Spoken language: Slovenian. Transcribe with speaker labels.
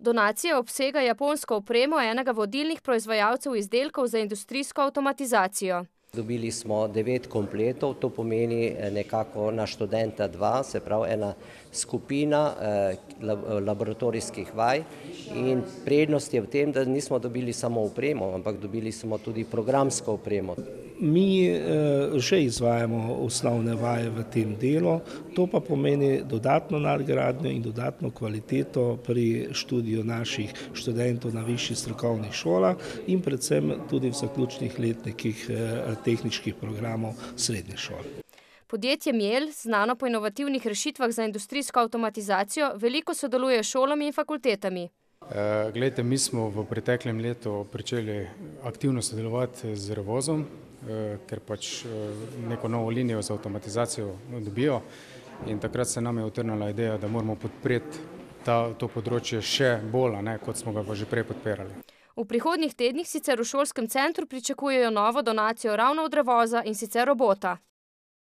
Speaker 1: Donacija obsega japonsko opremo enega vodilnih proizvajalcev izdelkov za industrijsko avtomatizacijo.
Speaker 2: Dobili smo 9 kompletov, to pomeni nekako na študenta 2, se pravi ena skupina laboratorijskih vaj, in prednost je v tem, da nismo dobili samo opremo, ampak dobili smo tudi programsko opremo.
Speaker 3: Mi že izvajamo osnovne vaje v tem delu, to pa pomeni dodatno nadgradnjo in dodatno kvaliteto pri študiju naših študentov na višjih strokovnih šolah in predvsem tudi v zaključnih letnikih tehničkih programov srednje šole.
Speaker 1: Podjetje Miel, znano po inovativnih rešitvah za industrijsko avtomatizacijo, veliko sodeluje s šolami in fakultetami.
Speaker 4: Glejte, mi smo v preteklem letu pričeli aktivno sodelovati z Revozom, ker pač neko novo linijo za avtomatizacijo dobijo, in takrat se nam je utrnila ideja, da moramo podpreti to področje še bolj, kot smo ga pa že prej podpirali.
Speaker 1: V prihodnjih tednih sicer v šolskem centru pričakujejo novo donacijo ravno od Revoza, in sicer robota.